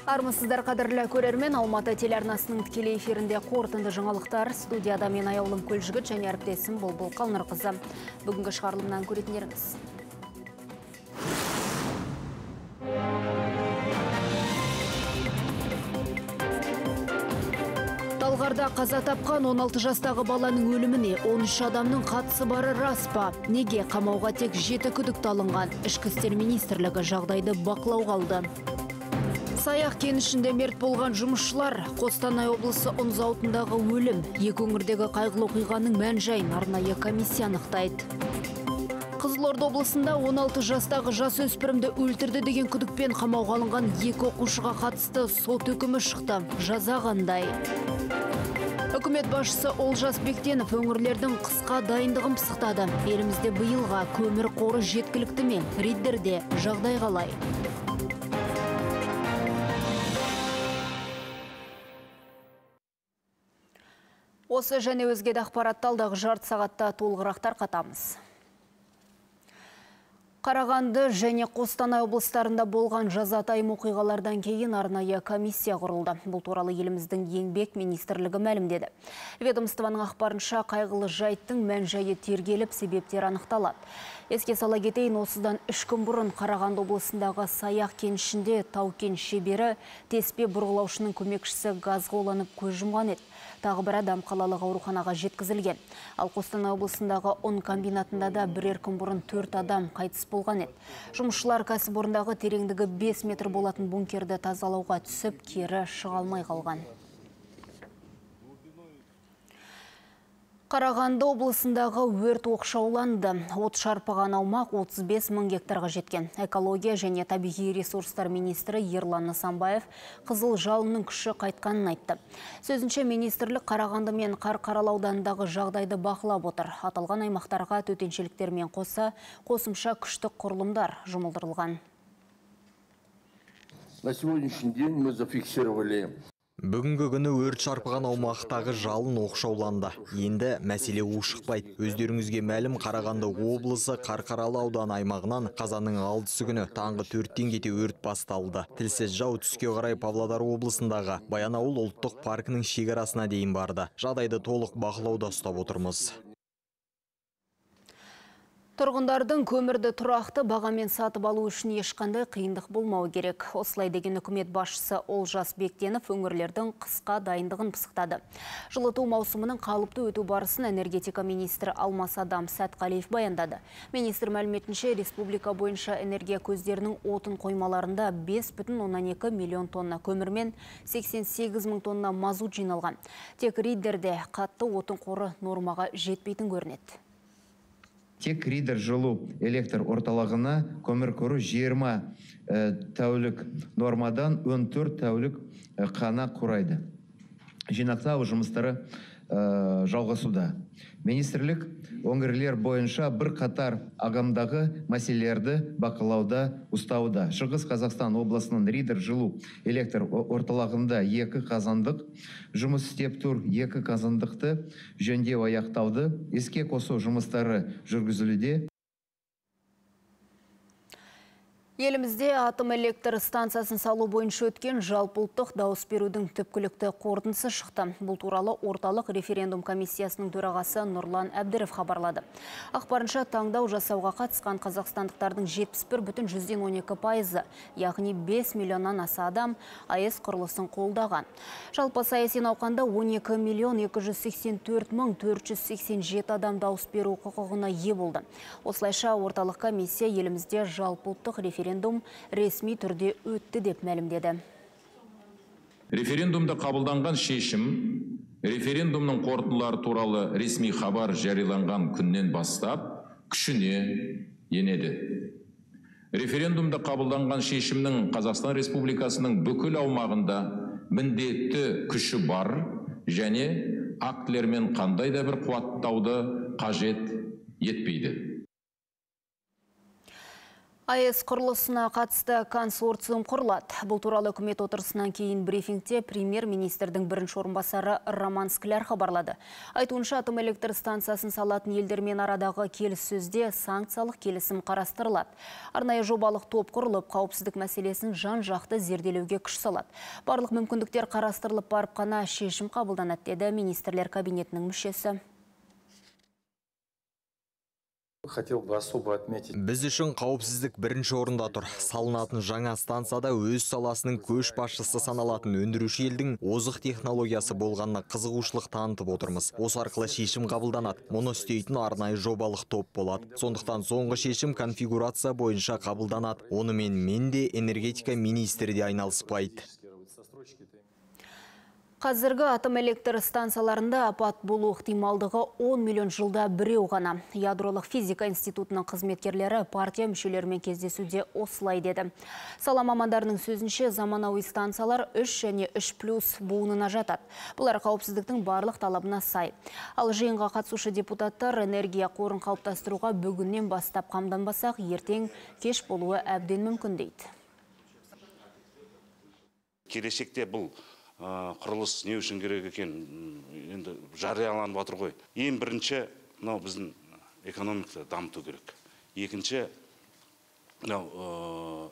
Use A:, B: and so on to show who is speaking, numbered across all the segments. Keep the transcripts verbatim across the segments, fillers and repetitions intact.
A: Армысыздар қадірлі көрермен, Алматы телеарнасының тікелей эфирінде қорытынды жаңалықтар. Студияда мен Аяулым Көлжігіт және әріптесім Бұлбұл Қалнырқызы. Бүгінгі шығарылымнан көретіндеріңіз. Талғарда қаза тапқан он алты жастағы баланың өліміне он үш адамның қатысы бары рас па? Неге қамауға тек жеті күдікті алынған? Ішкі істер министрлігі жағдайды бақылауға алды. Саяқ кенішінде мерт болған жұмысшылар, Қостанай облысы ұн зауытындағы өлім, екі өңірдегі қайғылы оқиғаның мән-жайын арнайы комиссия анықтайды. Қызылорда облысында он алты жастағы жасөспірімді өлтірді деген күдікпен қамауға алынған екі оқушыға қатысты сот үкімі шықты. Жаза қандай? Үкімет басшысы Олжас Бектенов өңірлердің қысқа дайындығын пысықтады. Елімізде биылға көмір қоры жеткілікті ме? Риддерде жағдай қалай? Осы және өзге де ақпаратты алдағы жарты сағатта толығырақтар қатамыз. Қарағанды және Қостанай облыстарында болған жазатайым оқиғалардан кейін арнайы комиссия құрылды. Бұл туралы еліміздің еңбек министрлігі мәлімдеді. Ведомствоның ақпарынша қайғылы жайттың мән-жайы тергеліп, себептер анықталады. Еске сала кетейін, осыдан үш күн бұрын Қарағанды облысындағы Саяқ кенішінде тау-кен шебері теспе бұрғылаушының көмекшісі газға уланып көз жұмған еді. Тағы бір адам қалалық ауруханаға жеткізілген. Ал Қостанай облысындағы ұн комбинатында да бірер күн бұрын төрт адам қайтыс болған еді. Жұмысшылар кәсіпорындағы тереңдігі бес метр болатын бункерді тазалауға түсіп, кері шыға алмай қалған. Қарағанды облысындағы өрт оқшауланды. От шарпыған аумақ отыз бес мың гектарға жеткен. Экология және табиғи ресурстар министрі Ерлан Нысанбаев қызыл жалынның күші қайтқанын айтты. Сөзінше министрлік Қарағанды мен Қарқаралы ауданындағы жағдайды бақылап отыр. Аталған аймақтарға төтеншеліктермен қоса қосымша күштік құрылымдар жұмылдырылған.
B: На сегодняшний день мы зафиксировали.
C: Бүгінгі күні өрт шарпыған аумақтағы жалын оқшауланды. Енді мәселе ушықпайды. Өздеріңізге мәлім, Қарағанды облысы Қарқаралы ауданы аймағынан қазанның алтысы күні таңғы төрттен кете өрт басталды. Тілсіз жау түске қарай Павлодар облысындағы Баянауыл ұлттық паркінің шекарасына дейін барды. Жағдайды толық бақылауда ұстап отырмыз.
A: Тұрғындардың көмірді тұрақты бағамен сатып алу үшін ешқандай қиындық болмауы керек. Осылай деген үкімет басшысы Олжас Бектенов өңірлердің қысқа дайындығын пысықтады. Жылыту маусымының қалыпты өту барысын энергетика министрі Алмас Адам Сәтқалиев баяндады. Министр мәліметінше, республика бойынша энергия көздерінің отын қоймаларында бес бүтін оннан екі миллион тонна көмір мен сексен сегіз мың тонна мазут жиналған. Тек Риддерде қатты отын қоры нормаға жетпейтін көрінеді.
D: Тек Риддер жылу электр орталығына көмір қоры жиырма тәулік нормадан он төрт тәулік қана құрайды. Жинақтау жұмыстары жалғасуда. Министрлік өңірлер бойынша бір қатар ағымдағы мәселелерді бақылауда ұстауда. Шығыс Қазақстан облысының Риддер жылу электр орталығында екі қазандық жұмыс істеп тұр. Екі қазандықты жөндеу аяқтауды, іске қосу жұмыстары жүргізілуде.
A: Елімізде атом электр станциясын салу бойынша өткен жалпы ұлттық дауыс берудің түпкілікті қорытындысы шықты. Бұл туралы орталық референдум комиссиясының төрағасы Нұрлан Әбдіров хабарлады. Ақпарынша таңдау жасауға қатысқан қазақстандықтардың жетпіс бір бүтін жүзден он екі пайызы, яғни бес миллионнан аса адам АЭС құрылысын қолдаған. Жалпы саяси науқанда он екі миллион екі жүз сексен төрт мың төрт жүз сексен жеті адам дауыс беру құқығына ие болды. Осылайша орталық комиссия елімізде жалпы ұлттық референдум ресми түрде өтті деп мәлімдеді.
E: Референдумда қабылданған шешім референдумның қорытындылары туралы ресми хабар жарияланған күннен бастап күшіне енеді. Референдумда қабылданған шешімнің Қазақстан Республикасының бүкіл аумағында міндетті күші бар және актілермен қандай да бір қуаттауды қажет етпейді.
A: АЭС құрылысына қатысты консорциум құрылады. Бұл туралы үкімет отырысынан кейін брифингте премьер-министрдің бірінші орынбасары Роман Скляр хабарлады. Айтуынша, атом электр станциясын салатын елдермен арадағы келіссөзде санкциялық келісім қарастырылады. Арнайы жобалық топ құрылып, қауіпсіздік мәселесін жан-жақты зерделеуге күш салады. Барлық мүмкіндіктер қарастырылып барып қана шешім қабылданады, деді министрлер кабинетінің мүшесі.
F: Хотел бы особо отметить.
C: Біз үшін қауіпсіздік бірінші орында тұр. Салынатын жаңа станцияда өз саласының көш басшысы саналатын өндіруші елдің озық технологиясы болғанына қызығушылық танытып отырмыз. Осы арқылы шешім қабылданады. Мұны істейтін арнайы жобалық топ болады. Сондықтан соңғы шешім конфигурация бойынша қабылданады. Онымен мен де энергетика министрі де айналыспайды.
A: Қазіргі атом электр станцияларында апат болу ықтималдығы он миллион жылда біреу ғана. Ядролық физика институтының қызметкерлері партия мүшелерімен кездесуде осылай деді. Сала мамандарының сөзінше, заманауи станциялар үш және үш плюс буынына жатады. Бұлар қауіпсіздіктің барлық талабына сай. Ал жиынға қатысушы депутаттар энергия қорын қалыптастыруға бүгіннен бастап қамданбасақ, ертең кеш болуы әбден мүмкін дейді.
G: Келешекте бұл құрылыс не үшін керек екен, енді жарияланып отыр ғой. Ең бірінші, мынау біздің экономиканы дамыту керек. Екінші, мынау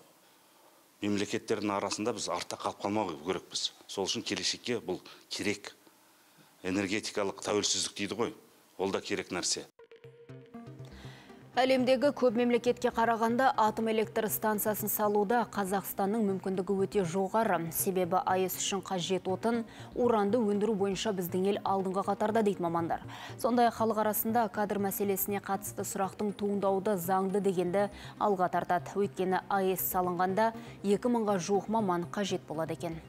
G: мемлекеттердің арасында біз артта қалып қалмау керекпіз. Сол үшін келешекке бұл керек. Энергетикалық тәуелсіздік дейді ғой. Ол да керек нәрсе.
A: Әлемдегі көп мемлекетке қарағанда атом электр станциясын салуда Қазақстанның мүмкіндігі өте жоғары. Себебі АЭС үшін қажет отын, уранды өндіру бойынша біздің ел алдыңғы қатарда дейді мамандар. Сондай халық арасында кадр мәселесіне қатысты сұрақтың туындауды заңды дегенді алға тартады. Өйткені АЭС салынғанда екі мыңға жуық маман қажет болады екен.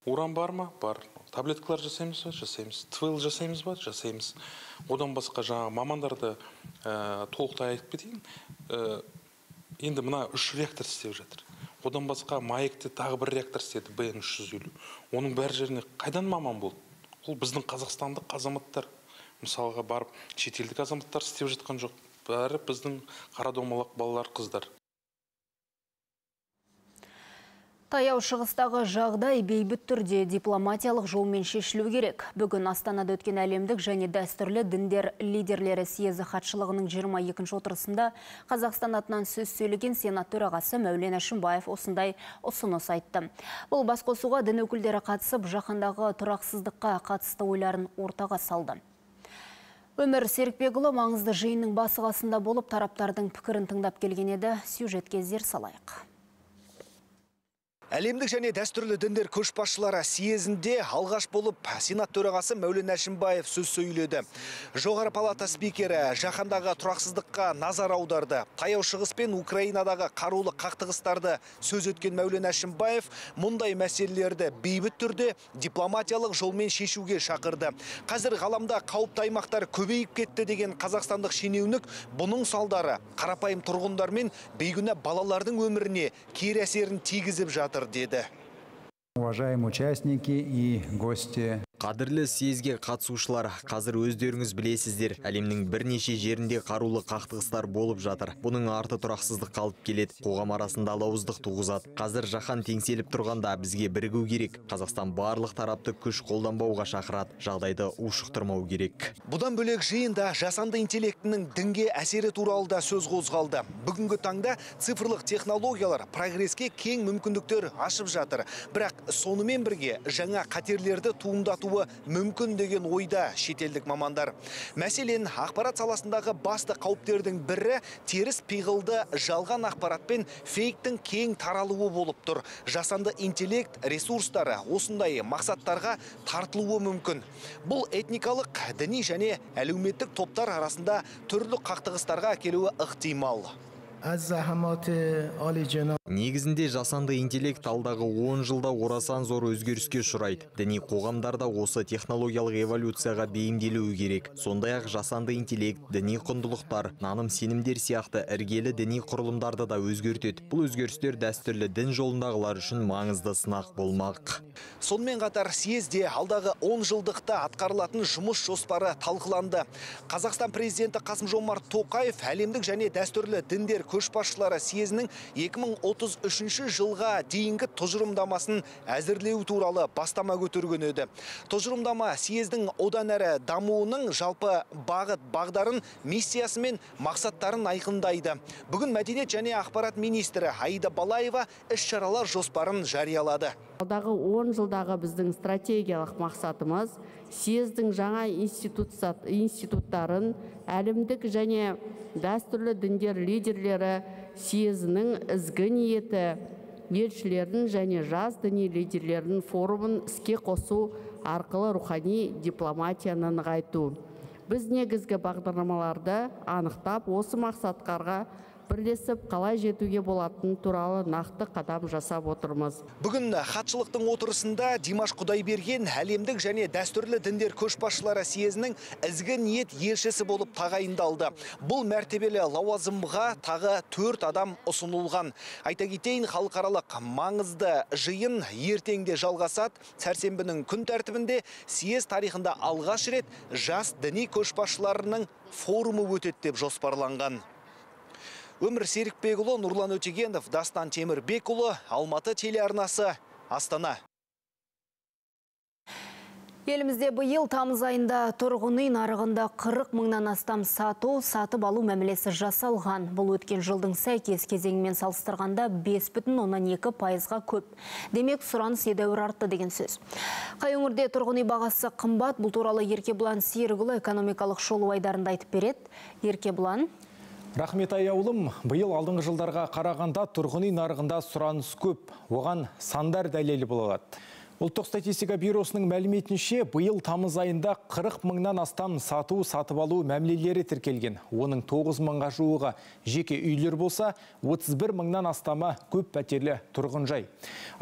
H: Уран бар ма? Бар. Таблеткалар жасаймыз ба? Жасаймыз. ТВЛ жасаймыз ба? Жасаймыз. Одан басқа жаңа мамандарды ә, толықтай айтып кетейін. Ә, енді мына үш реактор істеп жатыр. Одан басқа маекте тағы бір реактор істеді, Б Н үш жүз елу. Оның бәр жеріне қайдан маман болды? Ол біздің қазақстандық азаматтар. Мысалға барып, шетелдік азаматтар істеп жатқан жоқ. Бәрі біздің қара домалақ балалар, қыздар.
A: Таяу шығыстағы жағдай бейбіт түрде дипломатиялық жолмен шешілу керек. Бүгін Астанада өткен әлемдік және дәстүрлі діндер лидерлері съезі хатшылығының жиырма екінші отырысында Қазақстан атынан сөз сөйлеген сенат төрағасы Мәулен Әшімбаев осындай ұсыныс айтты. Бұл басқосуға дін өкілдері қатысып, жаһандағы тұрақсыздыққа қатысты ойларын ортаға салды. Өмір Серікбекұлы маңызды жиынның басығасында болып, тараптардың пікірін тыңдап келген еді. Сюжетке зер салайық.
I: Әлемдік және дәстүрлі діндер көшбасшылары съезінде алғаш болып сенат төрағасы Мәулен Әшімбаев сөз сөйледі. Жоғары палата спикері жаһандағы тұрақсыздыққа назар аударды. Таяу шығыс пен Украинадағы қарулы қақтығыстарды сөз өткен Мәулен Әшімбаев мұндай мәселелерді бейбіт түрде дипломатиялық жолмен шешуге шақырды. Қазір ғаламда қауіпті аймақтар көбейіп кетті деген қазақстандық шенеунік бұның салдары қарапайым тұрғындар мен бейгүнә балалардың өміріне кері әсерін тигізіп жатыр деді.
J: Уважаемые участники и гости.
C: Қадірлі съезге қатысушылар, қазір өздеріңіз білесіздер, әлемнің бірнеше жерінде қарулы қақтығыстар болып жатыр. Бұның арты тұрақсыздық қалып келеді, қоғам арасында алауыздық туғызады. Қазір жаһан теңселіп тұрғанда бізге бірігу керек. Қазақстан барлық тарапты күш қолданбауға шақырады, жағдайды ушықтырмау керек.
I: Бұдан бөлек жиында жасанды интеллектінің дінге әсері туралы да сөз қозғалды. Бүгінгі таңда цифрлық технологиялар прогреске кең мүмкіндіктер ашып жатыр. Бірақ сонымен бірге жаңа қатерлерді туындату мүмкін деген ойда шетелдік мамандар. Мәселен, ақпарат саласындағы басты қауіптердің бірі теріс пиғылды жалған ақпарат пен фейктің кең таралуы болып тұр. Жасанды интеллект ресурстары осындай мақсаттарға тартылуы мүмкін. Бұл этникалық, діни және әлеуметтік топтар арасында түрлі қақтығыстарға әкелуі ықтимал.
C: Негізінде жасанды интеллект алдағы он жылда орасан зор өзгеріске ұшырайды. Діни қоғамдарда осы технологиялық эволюцияға бейімделуі керек. Сондай-ақ жасанды интеллект, діни құндылықтар, наным сенімдер сияқты іргелі діни құрылымдарды да өзгертеді. Бұл өзгерістер дәстүрлі дін жолындағылар үшін маңызды сынақ болмақ.
I: Сонымен қатар съезде алдағы он жылдықта атқарылатын жұмыс жоспары талқыланды. Қазақстан президенті Қасым-Жомарт Тоқаев әлемдік және дәстүрлі діндер көшбасшылары съезінің екі мың отыз үшінші жылға дейінгі тұжырымдамасын әзірлеу туралы бастама көтерген еді. Тұжырымдама съездің одан әрі дамуының жалпы бағыт бағдарын, миссиясы мен мақсаттарын айқындайды. Бүгін мәдениет және ақпарат министрі Аида Балаева іс-шаралар жоспарын жариялады.
K: Алдағы он жылдағы біздің стратегиялық мақсатымыз съездің жаңа институттарын әлемдік және дәстүрлі діндер лидерлері съезінің ізгі ниеті елшілерін және жас діни лидерлерінің форумын іске қосу арқылы рухани дипломатияны нығайту. Біз негізгі бағдарламаларды анықтап, осы мақсаттарға бірлесіп қалай жетуге болатыны туралы нақты қадам жасап отырмыз.
I: Бүгін хатшылықтың отырысында Димаш Құдайберген әлемдік және дәстүрлі діндер көшбасшылары съезінің ізгі ниет елшісі болып тағайындалды. Бұл мәртебелі лауазымға тағы төрт адам ұсынылған. Айта кетейін, халықаралық маңызды жиын ертеңде жалғасады. Сәрсенбінің күн тәртібінде съез тарихында алғаш рет жас діни көшбасшыларының форумы өтеді деп жоспарланған. Өмір Серікбекұлы, Нұрлан Өтегенов, Дастан Темірбекұлы, Алматы телеарнасы, Астана.
A: Елімізде биыл тамыз айында тұрғын үй нарығында қырық мыңнан астам сату, сатып алу мәмілесі жасалған. Бұл өткен жылдың сәйкес кезеңімен салыстырғанда бес бүтін оннан екі пайызға көп. Демек, сұраныс едәуір артты деген сөз. Қай өңірде тұрғын үй бағасы қымбат, бұл туралы Еркебұлан Серікұлы экономикалық шолу айдарында айтып береді. Еркебұлан.
L: Рахмет аяулым, биыл алдыңғы жылдарға қарағанда тұрғын үй нарығында сұраныс көп, оған сандар дәлелі болады. Ұлттық статистика бюросының мәліметінше, биыл тамыз айында қырық мыңнан астам сату, сатып алу мәмілелері тіркелген. Оның тоғыз мыңға жуығы жеке үйлер болса, отыз бір мыңнан астамы көп пәтерлі тұрғын жай.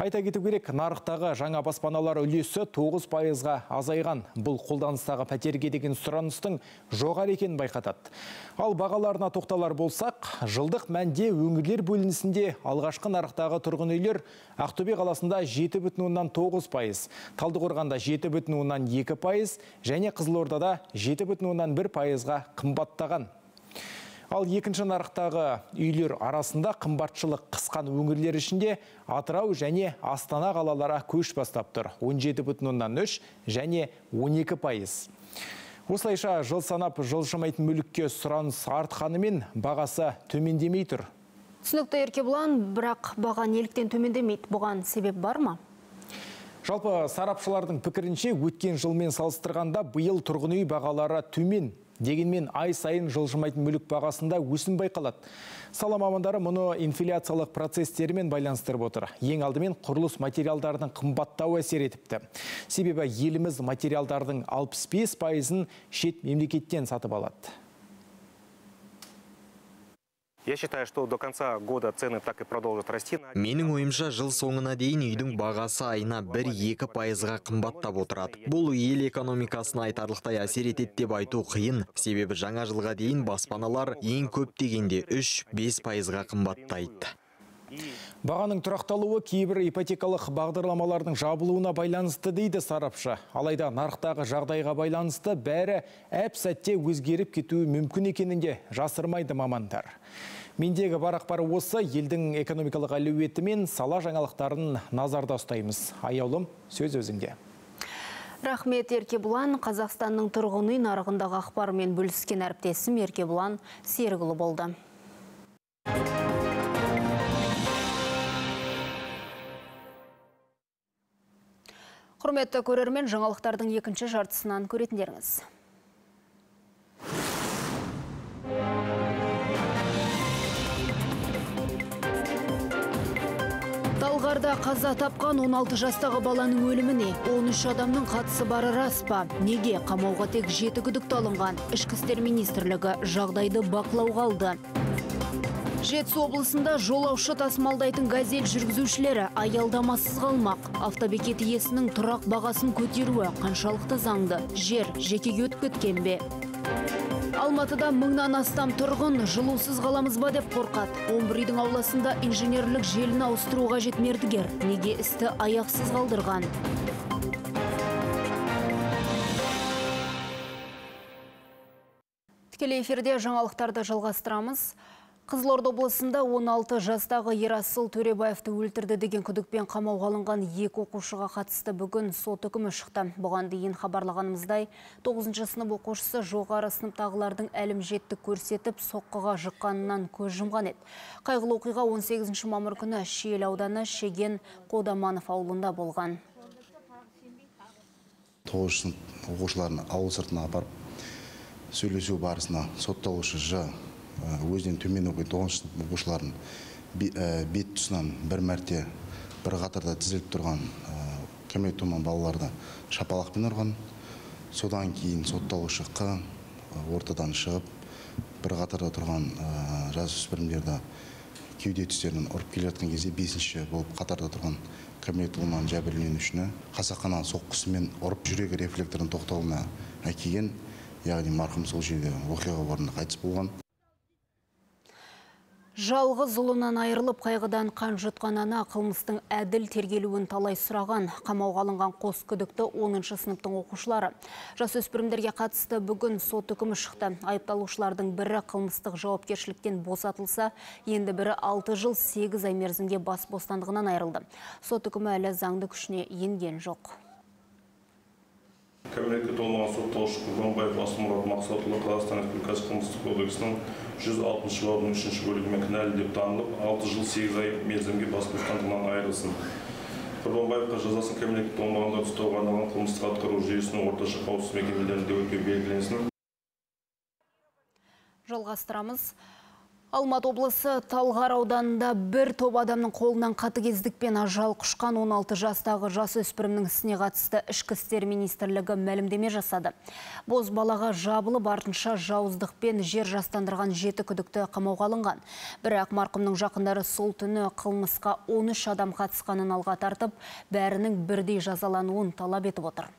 L: Айта кету керек, нарықтағы жаңа баспаналар үлесі тоғыз пайызға азайған. Бұл қолданыстағы пәтерге деген сұраныстың жоғары екенін байқатады. Ал бағаларына тоқталар болсақ, жылдық мәнде өңірлер бөлінісінде алғашқы нарықтағы тұрғын үйлер Ақтөбе қаласында жеті бүтін оннан тоғыз пайыз, Талдықорғанда жеті бүтін оннан екі пайыз және Қызылордада жеті бүтін оннан бір пайызға қымбаттаған. Ал екінші нарықтағы үйлер арасында қымбатшылық қысқан өңірлер ішінде Атырау және Астана қалалары көш бастап тұр. он жеті бүтін оннан үш және он екі пайыз. Осылайша жыл санап жылжымайтын мүлікке сұраныс артқанымен бағасы төмендемей тұр.
A: Түсінікті Еркебұлан, бірақ баға неліктен төмендемейді? Бұған себеп бар ма?
L: Жалпы сарапшылардың пікірінше өткен жылмен салыстырғанда биыл тұрғын үй бағалары төмен. Дегенмен ай сайын жылжымайтын мүлік бағасында өсім байқалады. Сала мамандары мұны инфляциялық процестермен байланыстырып отыр. Ең алдымен құрылыс материалдардың қымбаттауы әсер етіпті. Себебі еліміз материалдардың алпыс бес пайызын шет мемлекеттен сатып алады.
M: Я считаю, что до конца года цены так и продолжат расти.
C: Менің ойымша жыл соңына дейін үйдің бағасы айына бір-екі пайызға қымбаттап отырады. Бұл ел экономикасына айтарлықтай әсер етеді деп айту қиын. Себебі жаңа жылға дейін баспаналар ең көп дегенде үш-бес пайызға қымбаттайды.
L: Бағаның тұрақталуы кейбір ипотекалық бағдарламалардың жабылуына байланысты дейді сарапшы. Алайда нарықтағы жағдайға байланысты бәрі әп-сәтте өзгеріп кетуі мүмкін екенінде жасырмайды мамандар. Мендегі бар ақпары осы, елдің экономикалық әлеуеті мен сала жаңалықтарын назарда ұстаймыз. Аяулым, сөз өзіңде.
A: Рахмет Еркебұлан, Қазақстанның тұрғын үй нарығындағы ақпарымен бөліскен әріптесім Еркебұлан Серікұлы болды. Құрметті көрермен, жаңалықтардың екінші жартысынан көретіндеріңіз. Талғарда қаза тапқан он алты жастағы баланың өліміне он үш адамның қатысы бары рас па? Неге қамауға тек жеті күдікті алынған? Ішкі істер министрлігі жағдайды бақылауға алды. Жетісу облысында жолаушы тасымалдайтын газель жүргізушілері аялдамасыз қалмақ. Автобекет иесінің тұрақ бағасын көтеруі қаншалықты заңды? Жер жекеге өтіп кеткен бе? Алматыда мыңнан астам тұрғын жылусыз қаламыз ба деп қорқады. он бір үйдің ауласында инженерлік желіні ауыстыру қажет мердігер. Неге істі аяқсыз қалдырған? Тікелей эфирде жаңалықтарды жалғастырамыз. Қызылорда облысында он алты жастағы Ерасыл Төребаевты өлтірді деген күдікпен қамауға алынған екі оқушыға қатысты бүгін сот үкімі шықты. Бұған дейін хабарлағанымыздай, тоғызыншы сынып оқушысы жоғары сыныптағылардың әлімжеттік көрсетіп, соққыға жыққанынан көз жұмған еді. Қайғылы оқиға он сегізінші мамыр күні Шиелі ауданы Шеген Қодаманов ауылында болған.
N: тоғызыншы сынып оқушыларын ауыл сыртына апарып сөйлесу барысында сотталушы Ж өзінен төмен оқитын тоғызыншы сынып оқушыларын бет тұсынан бір мәрте бір қатарда тізіліп тұрған кәмелет толмаған балаларды шапалақпен ұрған. Содан кейін сотталушы Қ ортадан шығып бір қатарда тұрған жасөспірімдерді кеуде тұстарынан ұрып келе жатқан кезде бесінші болып қатарда тұрған кәмелет толмаған жәбірленушіні қасақана соққысымен ұрып жүрек рефлекторының тоқтауына әкелген, яғни марқұм сол жерде оқиға орнында қайтыс болған.
A: Жалғыз ұлынан айырылып қайғыдан қан жұтқан ана қылмыстың әділ тергелуін талай сұраған. Қамауға алынған қос күдікті оныншы сыныптың оқушылары. Жасөспірімдерге қатысты бүгін сот үкімі шықты. Айыпталушылардың бірі қылмыстық жауапкершіліктен босатылса, енді бірі алты жыл сегіз ай мерзімге бас бостандығынан айырылды. Сот үкімі әлі заңды күшіне енген жоқ.
O: Кәмелетке толмаған сотталушы Құрбанбаев Асылмұрат Мақсатұлы Қазақстан Республикасы қылмыстық кодексінің жүз алтыншы бабының үшінші бөлігімен кінәлі деп танылып, алты жыл сегіз ай мерзімге бас бостандығынан айырылсын. Құрбанбаевқа жазасын кәмелетке толмағандар ұстауға арналған қылмыстық атқару жүйесінің орташа қауіпсіз мекемелерінде өтеу белгіленсін.
A: Жалғастырамыз. Алматы облысы Талғар ауданында бір топ адамның қолынан қатыгездікпен ажал құшқан он алты жастағы жасөспірімнің ісіне қатысты Ішкі істер министрлігі мәлімдеме жасады. Боз балаға жабылып артынша жауыздықпен жер жастандырған жеті күдікті қамауға алынған. Бірақ марқұмның жақындары сол түні қылмысқа он үш адам қатысқанын алға тартып, бәрінің бірдей жазалануын талап етіп отыр.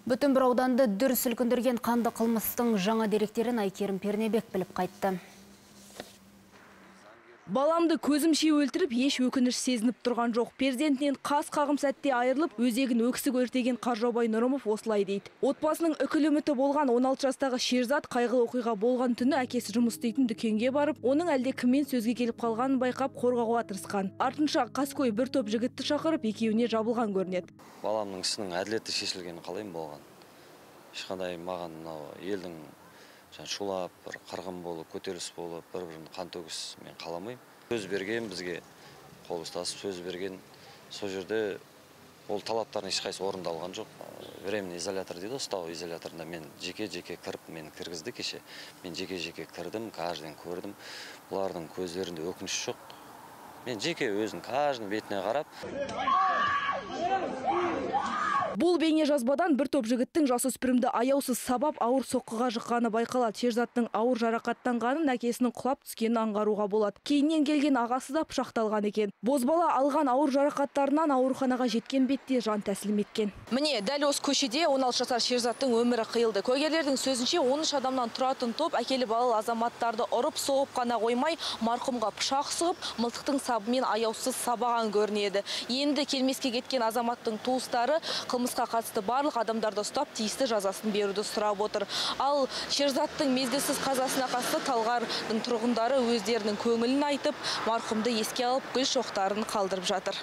A: Бүтін бір ауданды дүр сілкіндірген қанды қылмыстың жаңа деректерін Айкерім Пернебек біліп қайтты.
P: Баламды көзімше өлтіріп, еш өкініш сезініп тұрған жоқ. Перзентінен қас қағым сәтте айырылып, өзегін өксік өртеген Қаржаубай Нұрымов осылай дейді. Отбасының үкілі үміті болған он алты жастағы Шерзат қайғылы оқиға болған түні әкесі жұмыс істейтін дүкенге барып, оның әлде кіммен сөзге келіп қалғанын байқап қорғауға тырысқан. Артынша қаскөй бір топ жігітті шақырып, екеуіне жабылған көрінеді.
Q: Баламның ісінің әділетті шешілгені қалайым болған. Ешқандай маған елдің шулап, бір қырғын болып, көтеріліс болып, бір-бірін қан төгіс мен қаламайым. Сөз берген, бізге қол ұстасып сөз берген. Сол жерде ол талаптарын ешқайсы орындалған жоқ. Временный изолятор дейді, ұстау изоляторында мен жеке-жеке кіріп, мен кіргізді кеше. Мен жеке-жеке кірдім, кажден көрдім. Бұлардың көздерінде өкініш жоқ. Мен жеке өзін каждың бетіне қарап.
P: Бұл бейне жазбадан бір топ жігіттің жасөспірімді аяусыз сабап ауыр соққыға жыққаны байқалады. Шерзаттың ауыр жарақаттанғанын әкесінің құлап түскенін аңғаруға болады. Кейіннен келген ағасы да пышақталған екен. Бозбала алған ауыр жарақаттарынан ауруханаға жеткен бетте жан тәсілім еткен. Міне, дәл осы көшеде он алты жасар Шерзаттың өмірі қиылды. Куәгерлердің сөзінше он үш адамнан тұратын топ әкелі балалы азаматтарды ұрып соғып қана қоймай, марқұмға пышақ сұғып, мылтықтың сабымен аяусыз сабаған көрінеді. Енді келмеске кеткен азаматтың туыстары қылмысқа қатысты барлық адамдарды ұстап, тиісті жазасын беруді сұрап отыр. Ал Шерзаттың мезгілсіз қазасына қатысты Талғардың тұрғындары өздерінің көңілін айтып, марқұмды еске алып, гүл шоқтарын қалдырып жатыр.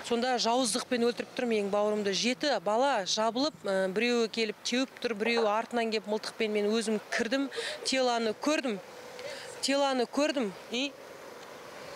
R: Сонда жауыздықпен өлтіріп тұр менің бауырымды. Жеті бала жабылып, біреуі келіп теуіп тұр, біреуі артынан келіп мылтықпен мен өзім кірдім, теланы көрдім. Теланы көрдім и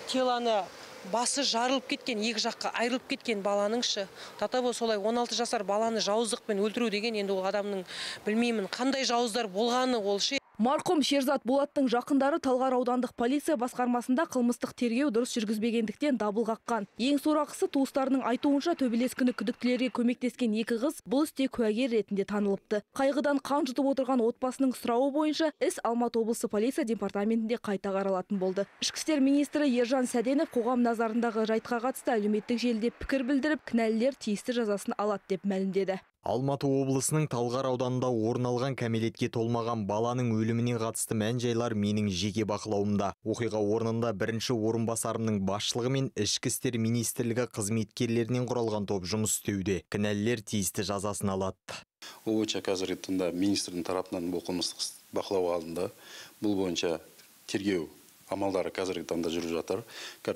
R: теланы басы жарылып кеткен, екі жаққа айырылып кеткен баланыңшы. Татабо солай он алты жасар баланы жауыздықпен өлтіру деген енді ол адамның білмеймін қандай жауыздар болғаны ол ше.
P: Марқұм Шерзат Болаттың жақындары Талғар аудандық полиция басқармасында қылмыстық тергеу дұрыс жүргізбегендіктен дабыл қаққан. Ең сорақысы туыстарының айтуынша төбелес күні күдіктілерге көмектескен екі қыз бұл істе куәгер ретінде танылыпты. Қайғыдан қан жұтып отырған отбасының сұрауы бойынша іс Алматы облысы полиция департаментінде қайта қаралатын болды. Ішкі істер министрі Ержан Сәденов қоғам назарындағы жайтқа қатысты әлеуметтік желіде пікір білдіріп, кінәлілер тиісті жазасын алады деп мәлімдеді.
C: Алматы облысының Талғар ауданында орын алған кәмелетке толмаған баланың өліміне қатысты мән-жайлар менің жеке бақылауымда. Оқиға орнында бірінші орынбасарымның басшылығымен ішкі істер министрлігі қызметкерлерінен құралған топ жұмыс істеуде. Кінәлілер тиісті жазасын алады.
S: Ол бойынша қазіргі таңда министрдің тарапынан бұл қылмыстық бақылау алынды. Бұл бойынша тергеу амалдары қазіргі таңда жүріп жатыр.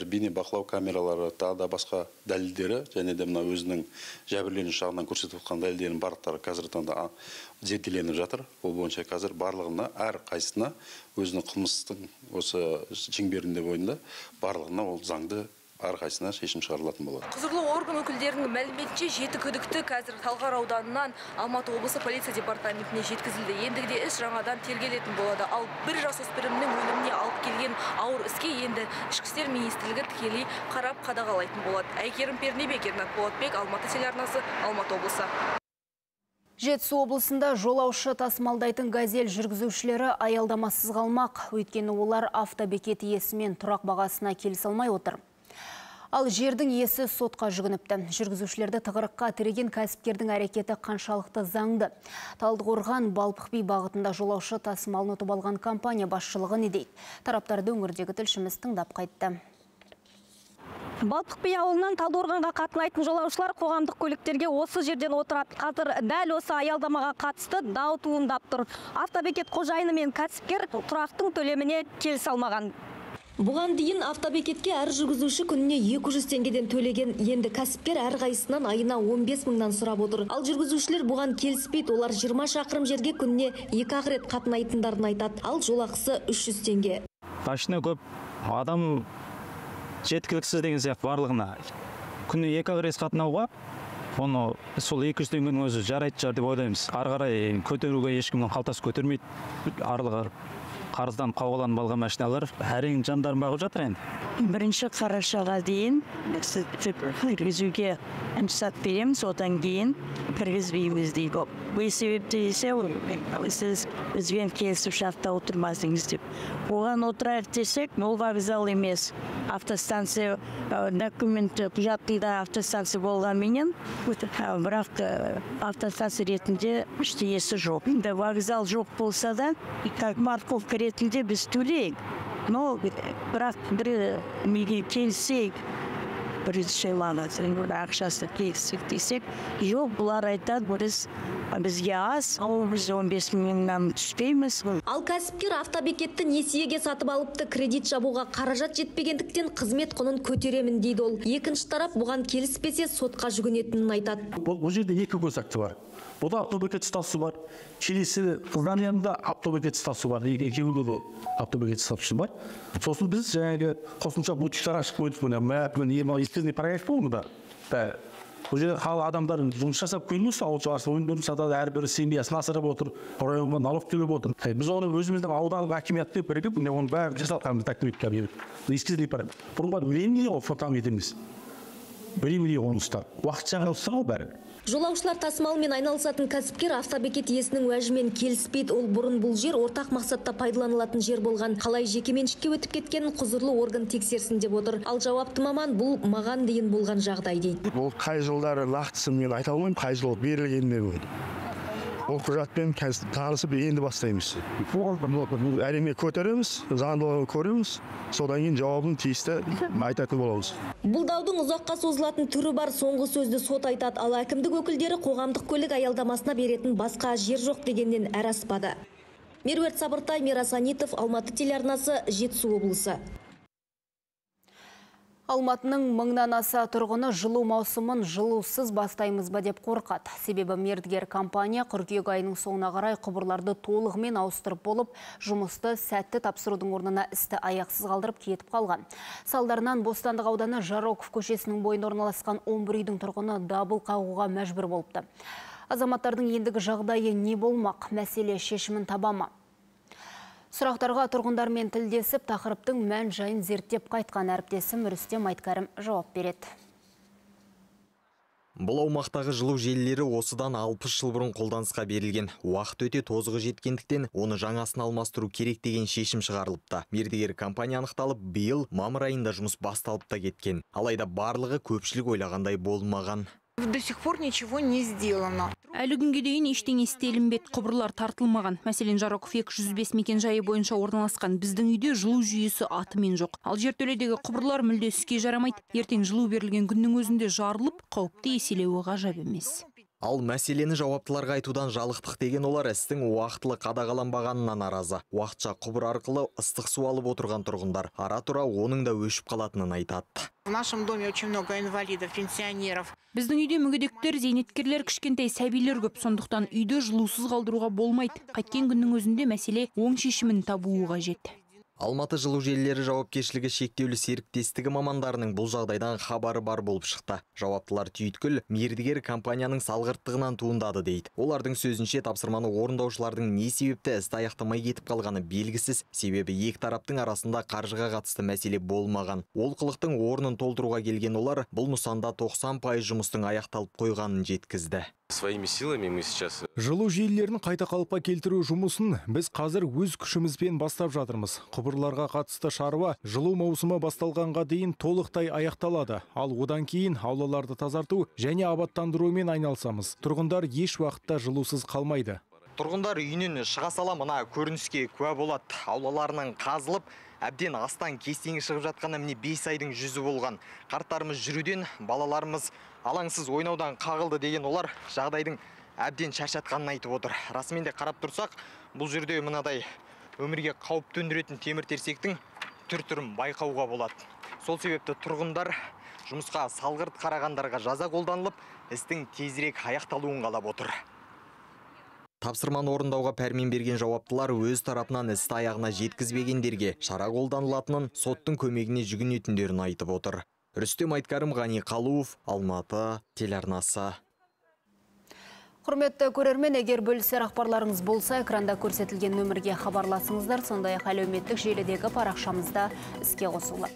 S: Бейне бақылау камералары, тағы да басқа дәлелдері, және де мына өзінің жәбірленуші жағынан көрсетіп отқан дәлелдерінің барлықтары қазіргі таңда зерделеніп жатыр. Ол бойынша қазір барлығына, әр қайсысына өзінің қылмыстың осы шеңберінде бойында барлығына ол заңды әрқайсына шешім шығарылатын болады.
P: Құзырлы орган өкілдерінің мәліметінше жеті күдікті қазір Талғар ауданынан Алматы облысы полиция департаментіне жеткізілді. Ендігіде іс жаңадан тергелетін болады. Ал бір жасөспірімнің өліміне алып келген ауыр іске енді ішкі істер министрлігі тікелей қарап қадағалайтын болады. Әйгерім Пернебек, Ернат Болатбек, Алматы телеарнасы, Алматы облысы.
A: Жетісу облысында жолаушы тасымалдайтын газель жүргізушілері аялдамасыз қалмақ. Өйткені олар автобекет иесімен тұрақ бағасына келісе алмай отыр. Ал жердің иесі сотқа жүгініпті. Жүргізушілерді тығырыққа тіреген кәсіпкердің әрекеті қаншалықты заңды. Талдықорған Балпық би бағытында жолаушы тасымалын ұтып алған компания басшылығы не дейді? Тараптарды өңірдегі тілшіміз тыңдап қайтты.
T: Балпық би ауылынан Талдықорғанға қатынайтын жолаушылар қоғамдық көліктерге осы жерден отырады. Қазір дәл осы аялдамаға қатысты дау туындап тұр. Автобекет қожайыны мен кәсіпкер тұрақтың төлеміне келісе алмаған.
U: Бұған дейін автобекетке әр жүргізуші күніне екі жүз теңгеден төлеген, енді кәсіпкер әр қайсынан айына он бес мыңнан сұрап отыр. Ал жүргізушілер бұған келіспейді, олар жиырма шақырым жерге күніне екі ақ рет қатынайтындарын айтады. Ал жолақысы үш жүз теңге.
V: Машина көп, адам жеткіліксіз деген сияқты барлығына. Күніне екі ақ рет қатынауға, оны сол екі жүз теңгенің өзі жарайды шығар деп ойлаймыз. Ары қарай көтеруге ешкімнің қалтасы көтермейді. Арлығы қарыздан қауғаланып алған машиналар әрең жандарын бағып жатыр енді.
W: Бірінші қарашаға дейін кіргізуге рұқсат береміз, одан кейін кіргізбейміз дейді. Бұл себепті есе сіз бізбен келісімшартта отырмасыңыз деп. Оған отырайық десек, ол вокзал емес. Автостанция документ құжатында автостанция болғанменен, бірақ автостанция ретінде ештеңесі жоқ. Вокзал жоқ болса да, как марковка ретінде біз төлейік. Но бірақ бір меге келсек, бірінші ақшасы келсек десек, жоқ, бұлар айтады, біз бізге аз, біз он бес мыңнан түспейміз.
U: Ал кәсіпкер автобекетті несиеге сатып алыпты, кредит жабуға қаражат жетпегендіктен қызмет құнын көтеремін дейді ол. Екінші тарап бұған келіспесе сотқа жүгінетінін айтады.
X: Бұл жерде екі көзақшы бар. Бұда автобекет стасы бар. Келесі Қызданияда автобекет стасы бар. Екеуінде де автобекет стасы бар. Сосын біз жаңағы қосымша бутиктар ашып қойдық бұны. Мәпін, ема, ескізіне параграф болды да. Бұл жерде халық адамдарын жұмыс жасап көйлмесе, ауыл шаруашылығы өнімдерін сатады, әрбір семьясын асырап отыр, районға налог төлеп отыр. Біз оны өзіміздің аудандық акимиятты бірігіп, оны бәрі жасалғанымыз тәктіп етіп келіп. Ескізіне параграф. Бұрынға времени ол фотам етеміз. Времени қоныстар. Уақытша қалса бәрі.
U: Жолаушылар тасымалымен айналысатын кәсіпкер автобекет иесінің уәжімен келіспейді. Ол бұрын бұл жер ортақ мақсатта пайдаланылатын жер болған. Қалай жекеменшікке өтіп кеткенін құзырлы орган тексерсін деп отыр. Ал жауапты маман бұл маған дейін болған жағдай дейді.
Y: Ол қай жылдары нақтысын мен айта алмаймын, қай жыл берілгеніне болды. Ол құжатпен танысып енді бастаймыз. Әрине көтереміз, заңдылығын көреміз, содан кейін жауабын тиісті айтатын боламыз.
U: Бұл даудың ұзаққа созылатын түрі бар, соңғы сөзді сот айтады. Ал әкімдік өкілдері қоғамдық көлік аялдамасына беретін басқа жер жоқ дегеннен әр аспады. Меруерт Сабыртай, Мирас Анитов, Алматы телеарнасы, Жетісу облысы.
A: Алматының мыңнан аса тұрғыны жылу маусымын жылусыз бастаймыз ба деп қорқады. Себебі мердігер компания қыркүйек айының соңына қарай құбырларды толығымен ауыстырып болып, жұмысты сәтті тапсырудың орнына істі аяқсыз қалдырып кетіп қалған. Салдарынан Бостандық ауданы Жароков көшесінің бойында орналасқан он бір үйдің тұрғыны дабыл қағуға мәжбүр болыпты. Азаматтардың ендігі жағдайы не болмақ? Мәселе шешімін таба ма? Сұрақтарға тұрғындармен тілдесіп, тақырыптың мән жайын зерттеп қайтқан әріптесім Рүстем Айткәрім жауап береді.
C: Бұл аумақтағы жылу желілері осыдан алпыс жыл бұрын қолданысқа берілген. Уақыт өте тозығы жеткендіктен, оны жаңасын алмастыру керек деген шешім шығарылыпты. Мердігер компания анықталып, биыл мамыр айында жұмыс басталып та кеткен. Алайда барлығы көпшілік ойлағандай болмаған.
B: До сих пор ничего не сделано.
D: Әлі күнге дейін ештеңе істелінбеді, құбырлар тартылмаған. Мәселен, Жароков екі жүз бес мекенжайы бойынша орналасқан біздің үйде жылу жүйесі атымен жоқ. Ал жертөледегі құбырлар мүлде іске жарамайды. Ертең жылу берілген күннің өзінде жарылып, қауіпті еселеуі ғажап емес.
C: Ал мәселені жауаптыларға айтудан жалықтық деген олар істің уақытылы қадағаланбағанына наразы. Уақытша құбыр арқылы ыстық су алып отырған тұрғындар ара-тұра оның да өшіп қалатынын айтады.
B: В нашем доме очень много инвалидов, пенсионеров.
D: Біздің үйде мүгедектер, зейнеткерлер, кішкентай сәбилер көп, сондықтан үйді жылусыз қалдыруға болмайды. Қайткен күннің өзінде мәселе оң шешімін табуы қажет.
C: Алматы жылу желілері жауапкершілігі шектеулі серіктестігі мамандарының бұл жағдайдан хабары бар болып шықты. Жауаптылар түйткіл мердігер компанияның салғырттығынан туындады дейді. Олардың сөзінше тапсырманы орындаушылардың не себепті істі аяқтамай кетіп қалғаны белгісіз, себебі екі тараптың арасында қаржыға қатысты мәселе болмаған. Олқылықтың орнын толтыруға келген олар бұл нысанда тоқсан пайыз жұмыстың аяқталып қойғанын жеткізді.
E: Своими силами мы сейчас...
L: Жылу желілерін қайта қалыпқа келтіру жұмысын біз қазір өз күшімізбен бастап жатырмыз. Құбырларға қатысты шаруа жылу маусымы басталғанға дейін толықтай аяқталады. Ал одан кейін аулаларды тазарту және абаттандырумен айналысамыз. Тұрғындар еш уақытта жылусыз қалмайды.
C: Тұрғындар үйінен шыға сала мына көрініске куә болады. Аулаларының қазылып, әбден астан кестеңі шығып жатқаны міне бес айдың жүзі болған. Қарттарымыз жүруден, балаларымыз алаңсыз ойнаудан қағылды деген олар жағдайдың әбден шаршатқанын айтып отыр. Расымен де қарап тұрсақ, бұл жерде мынадай өмірге қауіп төндіретін темір терсектің түр-түрін байқауға болады. Сол себепті тұрғындар жұмысқа салғырт қарағандарға жаза қолданылып, істің тезірек аяқталуын қалап отыр. Тапсырманы орындауға пәрмен берген жауаптылар өз тарапынан істі аяғына жеткізбегендерге шара қолданылатынын, соттың көмегіне жүгінетіндерін айтып отыр. Рүстем Айткәрім, Ғани Қалуов, Алматы телеарнасы.
A: Құрметті көрермен, егер бөлісер ақпарларыңыз болса, экранда көрсетілген нөмірге хабарласыңыздар, сондай-ақ әлеуметтік желідегі парақшамызда іске қосылды.